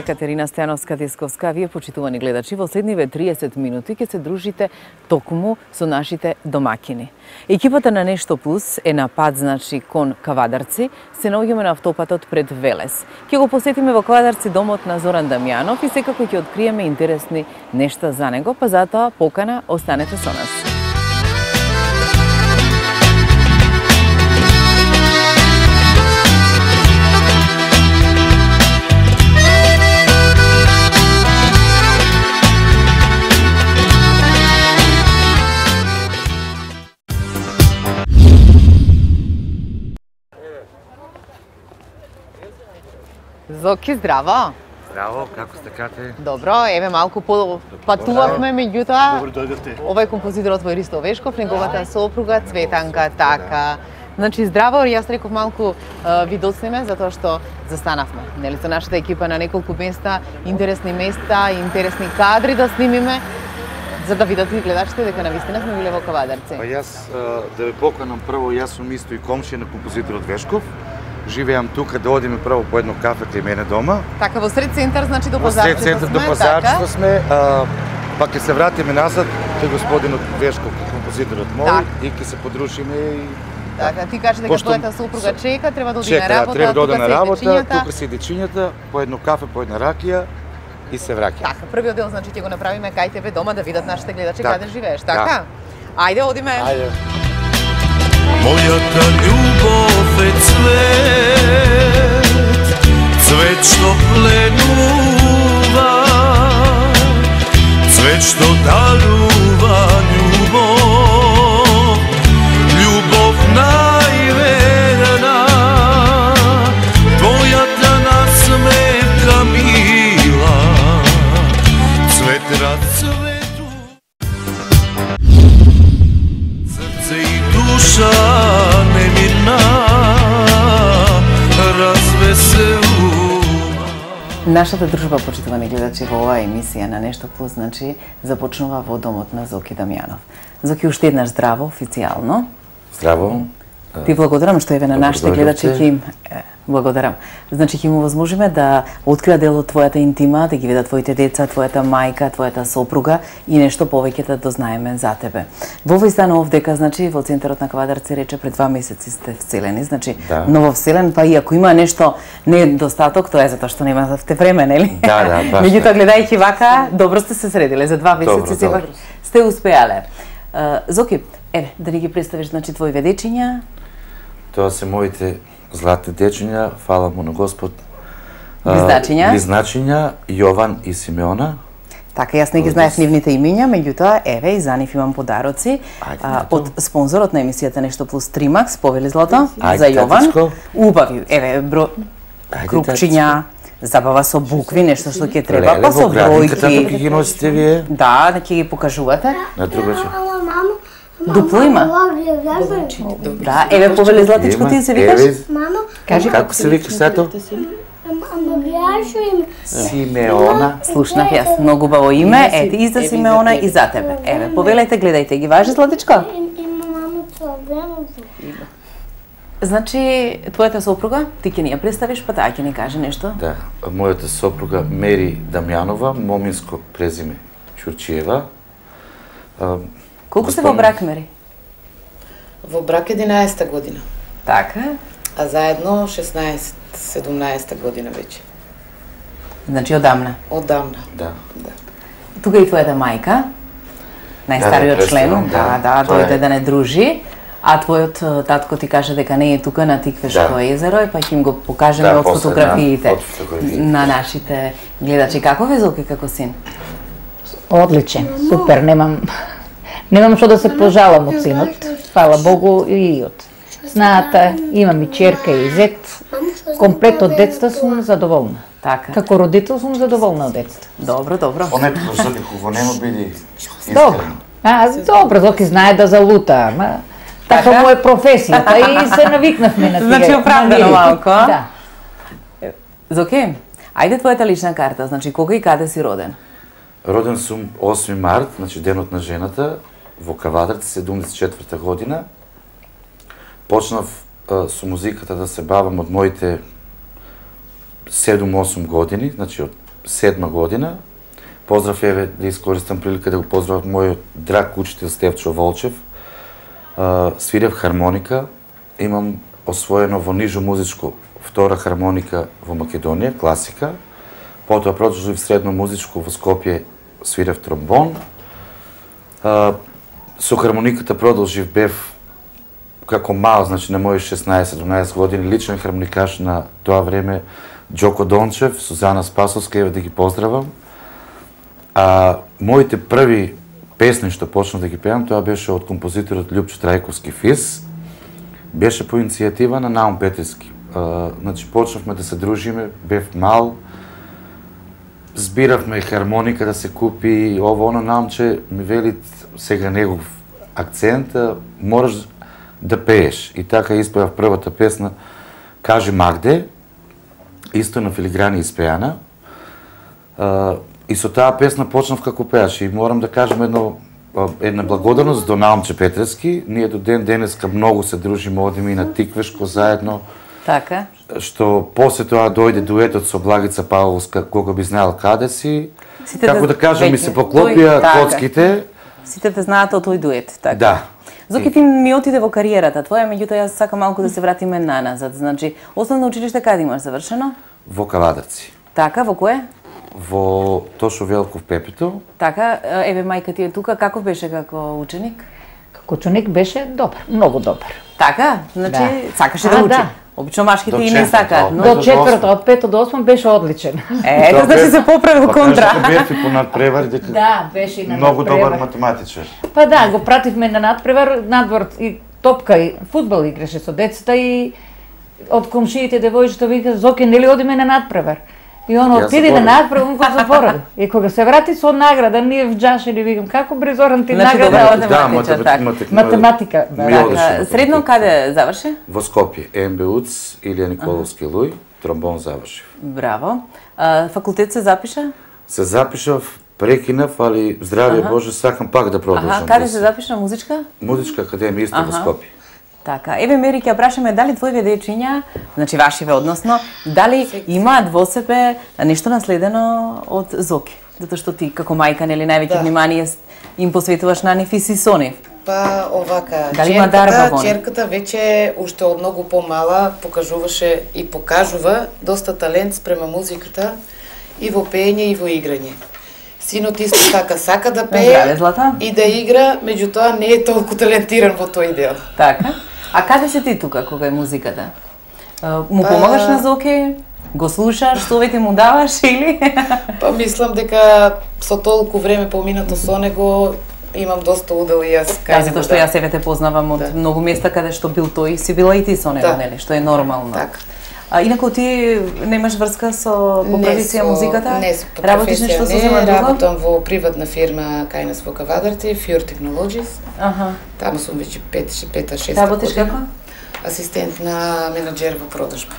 Екатерина Стојановска-Десковска. Вие, почитувани гледачи, во следниве 30 минути ќе се дружите токму со нашите домакини. Екипата на Нешто Плюс е на пат, значи, кон Кавадарци. Се наоѓаме на автопатот пред Велес. Ќе го посетиме во Кавадарци домот на Зоран Дамјанов и секако ќе откриеме интересни нешта за него, па затоа покана, останете со нас. Зоки, здраво! Здраво, како сте, Кате? Добро, еве малку патувавме, меѓутоа овој композиторот во Ристо Вешков, неговата сопруга Цветанка, така. Значи, здраво, јас реков малку ви доснеме, затоа што застанавме, нели, со нашата екипа на неколку места, интересни кадри да снимиме, за да видат и гледачите дека навистина сме биле во Кавадарци. Па јас да ве поканам прво, јас сум исто и комшија на композиторот Вешков. Живеам тука, да одиме прво по едно кафе кај мене дома. Така, во сред центар, значи до Пазарчето сме, до Пазарчето сме, па ќе се вратиме назад кај господинот Вешков, композиторот мој, и ќе се подрушиме и... Така, ти кажи дека твојата супруга чека, треба да оди на работа, треба да оди на работа, тука се дечињата, по едно кафе, по една ракија и се враќаме. Така, првиот дел, значи, ќе го направиме кај тебе дома, да видат нашите гледачи каде живееш, така? Ајде, одиме! Ајде! Мојата љубов е цвет, цвет што пленува, цвет што дарува љубов, љубов најверна, твојата насмевка мила, цвет расцвету, срце и душа немирна, развеселува. Нашата дружба, почитувани гледачи, во оваа емисија на Нешто Плюс, значи, започнува во домот на Зоки Дамјанов. Зоки, уште еднаш здраво, официјално. Здраво. Ти благодарам што еве на нашите гледачи ќе им благодарам. Значи ќе му возможиме да откријат дел од твојата интима, да ги видат твоите деца, твојата мајка, твојата сопруга и нешто повеќе да дознаеме за тебе. Во овој стан овдека, значи во центарот на Кавадарци рече пред 2 месеци сте вселени, значи нововселен, па и ако има нешто недостаток, тоа е затоа што немавте време, нели? Да, баш. Меѓутоа гледајќи вака, добро сте се средиле, за 2 месеци сепак сте успеале. Зоки, еве, да ни ги представиш, значи, твоите дечиња? Тоа се моите златни дечиња, фала му на Господ. Близначиња, Јован и Симеона. Така, јас не ги знаев нивните имиња, меѓутоа, еве, и за нив имам подароци од спонзорот на емисијата Нешто Плюс Тримакс, повели злато, за Јован. Убави, еве, крупчиња, забава со букви, нешто што ќе треба, па со бројки. Како ги носите вие? Да, ќе ги покажувате. На другаче. Дупло има? Да, еве, повели златичко, ти се викаш? Мамо, кажи како се викаш сето? Симеона. Слушнав јас, многу убаво име, ете и за Симеона и за тебе. Еве, повелете, гледајте ги, важи златичко? Има мамо цврвено. Значи, твојата сопруга, ти ќе ни ја представиш, па таа ќе ни каже нешто? Да, мојата сопруга Мери Дамјанова, моминско презиме Ќурчиева. Колку сте во брак, Мери? Во брак 11-та година, Така. а заедно 16-17 година веќе. Значи, одамна. Одамна. Да. Тука и твојата мајка, најстариот член, дојде да не дружи, а твојот татко ти каже дека не е тука на Тиквешко езеро, па ќе им го покажеме од фотографиите на нашите гледачи. Како ве, Зоки, како син? Одличен, супер, немам што да се пожалам од синот. Фала Богу и од снаата, имам и черка и зет. Комплет од детства сум задоволна. Така. Како родител сум задоволна од детства. Добро. Онето за никого нема биде искрено. Добро, Зоки знае да залута, ама така му е професијата и се навикнавме на тие. Значи, оправдано малко, а? Да. Зоки, ајде твојата лична карта, значи кога и каде си роден? Роден сум 8 март, значи денот на жената, во Кавадарци, 74-та година. Почнав со музиката да се бавам од моите 7-8 години, значи од 2007 година. Поздрав, еве, да искористам прилика да го поздравам мојот драг учител Стефчо Волчев. Свирев хармоника, имам освоено во нижо музичко втора хармоника во Македонија, класика. Потоа продолжив средно музичко во Скопје, свирев тромбон. Со хармониката продолжив, бев како мал, значи на мои 16-17 години, личен хармоникаш на тоа време Џоко Дончев, Сузана Спасовска, еве да ги поздравам. Моите први песни што почнав да ги пеам, тоа беше од композиторот Љупчо Трајковски Фис. Беше по иницијатива на Наум Петерски. Значи почнавме да се дружиме, бев мал, збиравме хармоника да се купи, ово оно, Наумче ми вели сега негов акцент, мораш да пееш. И така испеав првата песна Кажи Магде, исто на филиграни испеана. И со таа песна почнав како пеаш. И морам да кажам една благодарност до Наумче Петерски. Ние до ден денеска многу се дружиме, одиме и на Тиквешко заедно. Така. Што после тоа дојде дуетот со Благица Павловска, кога би знаел каде си. Како да кажам, ми се поклопија коцките. Сите те знаат од тој дует, така. Да. Зоки, ти ми отиде во кариерата твоја, меѓутоа јас сакам малку да се вратиме назад. Значи, основно училиште каде имаш завршено? Во Кавадарци. Така, во кое? Во Тошо Велков Пепето. Така, еве мајка ти е тука, каков беше како ученик? Како ученик беше добар, многу добар. Така, значи сакаше да учи. Да. Обично машките и не сакаат, но До четврто, од 5 до 8 беше одличен. ето значи се поправи во контра. Па бев и по надпревари дека Да, беше и на многу надпревар. добар математичар. Па да, го пративме на надпревар, надвор и топка и фудбал играше со децата и од комшиите девојчето вика Зоке, нели одиме на надпревар? И он отиде на надпревар, он го заборави. И кога се врати со награда, ние вџашени викам како Бризоран ти Значи, награда добра од математичар, така. математика. Ми Да. одеше. Средно каде заврши? Во Скопје, МБУЦ, Илија Николовски Луј, тромбон завршив. Браво. Факултет се запиша? Се запишав, прекинав, али здравје Боже, сакам пак да продолжам. Каде се запиша музичка? Музичка академија исто во Скопје. Така, еве Мери, ќе прашаме дали твоите дечиња, значи вашиве односно, дали имаат во себе нешто наследено од Зоки? Затоа што ти како мајка нели највеќе внимание им посветуваш на нив и си со нив. Па овака, Дали има дарба во нив? черката веќе уште од многу помала покажуваше и покажува доста талент спрема музиката и во пеење и во играње. Синот исто така сака да Здраве, пее Злата. и да игра, меѓутоа не е толку талентиран во тој дел. Така. А каде си ти тука кога е музиката? Му помагаш на Зоки? Го слушаш, совети му даваш или? Па мислам дека со толку време поминато со него имам доста удел и јас Да, затоа што јас еве те познавам од многу места каде што бил тој, си била и ти со него, нели, што е нормално. Така. Инаку ти немаш врска со по професија музиката? Не, по Работиш нешто со професија не, друго? работам во приватна фирма кај нас во Кавадарци, Fjord Technologies. Аха. Таму сум веќе 5-6 Работиш како? Асистент на менаџер во продажба.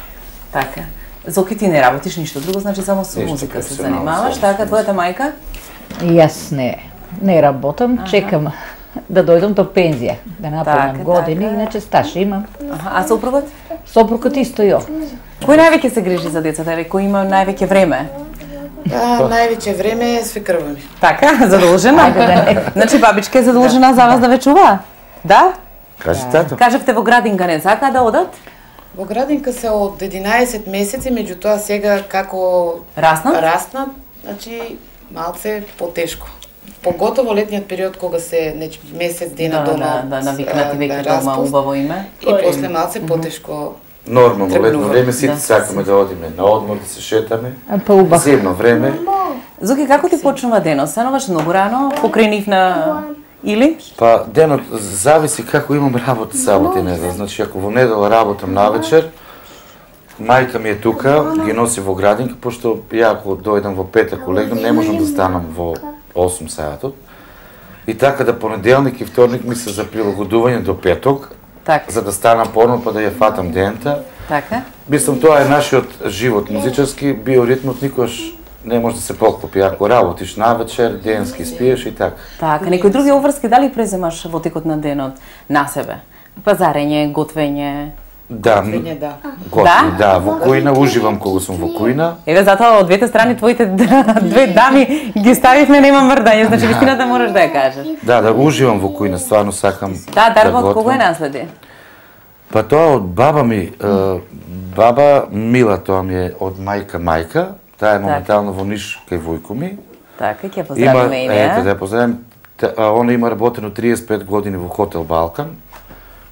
Така. Зоки, ти не работиш ништо друго, значи само со Ништо музика се професионално, занимаваш, само така, твојата мајка? И јас не работам, чекам да дојдам до пензија, да наполнам Така, години, така. иначе стаж имам. Аха, а сопругот? Сопругот исто и овде. Кој највеќе се грижи за децата, еве, кој има највеќе време? Највеќе време е свекрва ми. Така, задолжена? Значи бабичка е задолжена за вас да ве чува? Да? Кажи тато. Кажавте во градинка не сака да одат? Во градинка се од 11 месеци, меѓутоа сега како Раснат? значи малце потешко. Поготово летниот период кога се месец дена дома. Да, навикнати веќе дома убаво име. И после малце потешко. Нормално, летно Тргнува. време сите Да. сакаме да одиме на одмор, да се шетаме. Па убав. Зимно време. Зоки, како ти почнува денот? Стануваш многу рано, покрај нив на... Или? Па денот зависи како имам работа сабота и недела. Значи ако во недела работам навечер, мајка ми е тука, ги носи во градинка, пошто ја ако дојдам во пет, ако легнам, не можам да станам во 8 саатот. И така да понеделник и вторник ми се за прилагодување до петок, Така. за да станам порно па да ја фатам дента. Така. Мислам, тоа е нашиот живот музичарски, биоритмот никош не може да се поклопи. Ако работиш навечер, денски спиеш и така. Така, некои други обврски дали преземаш во текот на денот на себе? Пазарење, готвење, Да, Готвење, да. готвење, да, во кујна, уживам кога сум во кујна. Еве затоа од двете страни твоите две дами ги ставивме, нема мрдање, значи вистината можеш да ја кажеш. Да, уживам во кујна, стварно сакам Да, дарба од готвам. кого е наследи? Па тоа од баба ми, баба Мила, тоа ми е од мајка, таа е моментално во Ниш кај војко ми. Така, ќе поздравиме и неа. Ете, да поздравим. Она има работено 35 години во Хотел Балкан.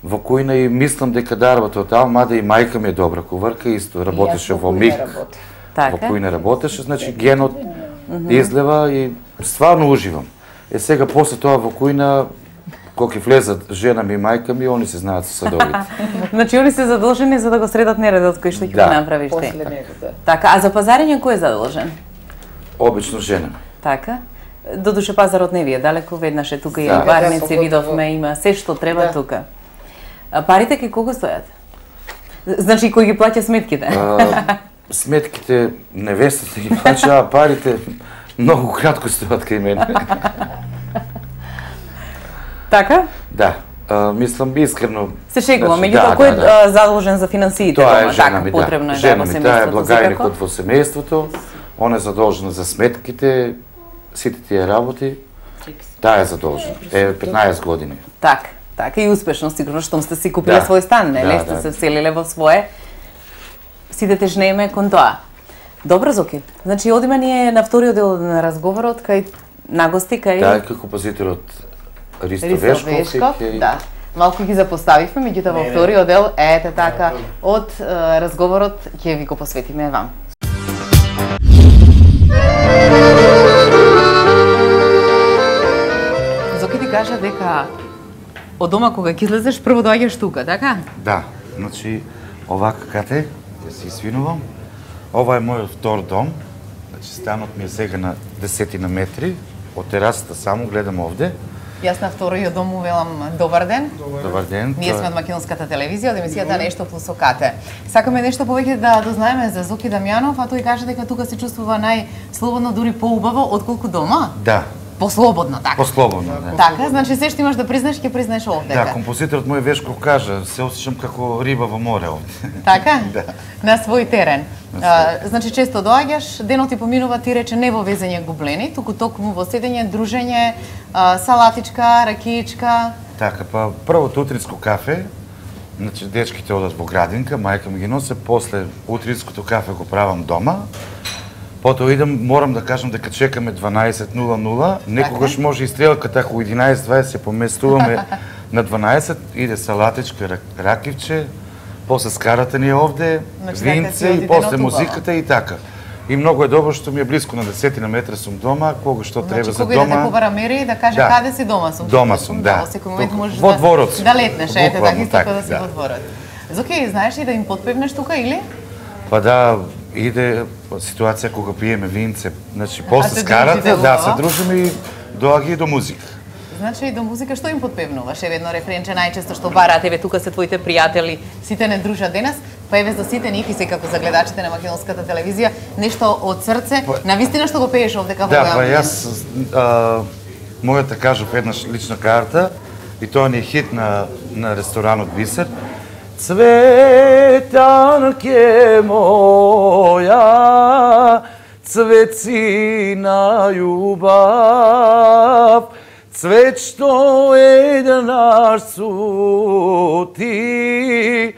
Во кујна и мислам дека дарбата од таа, мада и мајка ми е добра куварка, исто работеше во МИК. Во кујна работеше, значи генот излева и стварно уживам. Сега после тоа во кујна, кога ќе влезат жена ми и мајка ми, они се знаат со садовите. Значи они се задолжени за да го средат нередот кој што ќе го направиш ти. После него, да. Така, а за пазарење кој е задолжен? Обично жена ми. Така. Додуше пазарот не ви е далеко, веднаш е тука и Да. барници, видовме, има се што треба тука. А парите кај кого стојат? Значи кој ги плаќа сметките? Сметките невестата ги плаќа, а парите многу кратко стојат кај мене. Така? Да, мислам искрено. Се шегувам, Значи, меѓутоа кој е задолжен за финансиите? Тоа е дома? жена Така, ми, потребно да. е Жена во ми, таа е семејството, благајникот секако. во семејството, она е задолжена за сметките, сите тие работи, таа е задолжена. Е 15 години. Така, така и успешно сигурно штом сте си купиле Да. свој стан, нели? Да, Сте да. се вселиле во свое. Сите тежнееме кон тоа. Добро, Зоки. Значи одиме ние на вториот дел на разговорот кај нагости кај Таа е како композиторот Ристо Ристо Вешков. Вешков, и- да. Малку ги запоставивме, меѓутоа во вториот дел, ете така, од разговорот ќе ви го посветиме вам. Зоки ти кажа дека од дома кога ќе излезеш прво доаѓаш тука, така? Да, значи овака кате, ќе се извинувам. Ова е мојот втор дом. Значи станот ми е сега на 10 метри. Од терасата само гледам овде. Јас на вториот дом му велам добар ден. Добар ден. Ние тоа е- сме од македонската телевизија, од емисијата Нешто плюс Окате. Сакаме нешто повеќе да дознаеме за Зоки Дамјанов, а тој каже дека тука се чувствува најслободно, дури поубаво отколку дома. Да, Послободно, така. послободно, да. Така, значи се што имаш да признаеш, ќе признаеш овде. Да, композиторот мој Вешков кажа, се осеќам како риба во море овде. Така? Да. На свој терен. На Значи често доаѓаш, денот ти поминува, ти рече не во везење гублени, туку токму во седење, дружење, салатичка, ракиичка. Така, па првото утринско кафе, значи дечките одат во градинка, мајка ми ги носи, после утринското кафе го правам дома. Потоа идам, морам да кажам дека чекаме 12:00, некогаш може и стрелката ако 11:20 се поместуваме на 12, иде салатичка, ракивче, после скарата ни е овде, Значи, така винце си оди и после денот музиката и така. И многу е добро што ми е близко на 10 на метра сум дома, кога што треба Значи за кога иде дома. да кувара мери да каже Да. каде си дома сум. Дома сум, да. Во секој момент Тука, можеш во дворот сум. да летнеш, ете така Буквално исто така, да си да. во дворот. Зоки, знаеш ли да им подпевнеш тука или? Па да, иде ситуација кога пиеме винце, значи после се скарата, дружите да, убаво? се дружиме и доаѓа и до музика. Значи до музика што им подпевнуваш? Еве едно рефренче најчесто што бараат, еве тука се твоите пријатели, сите не дружат денес, па еве за сите нив и секако за гледачите на македонската телевизија, нешто од срце, на вистина што го пееш овде како Да, во па амбиент. јас мојата кажав еднаш лична карта и тоа ни е хит на ресторанот Бисер. Цветанке моја, цветцина љубав, цвет што еднаш су ти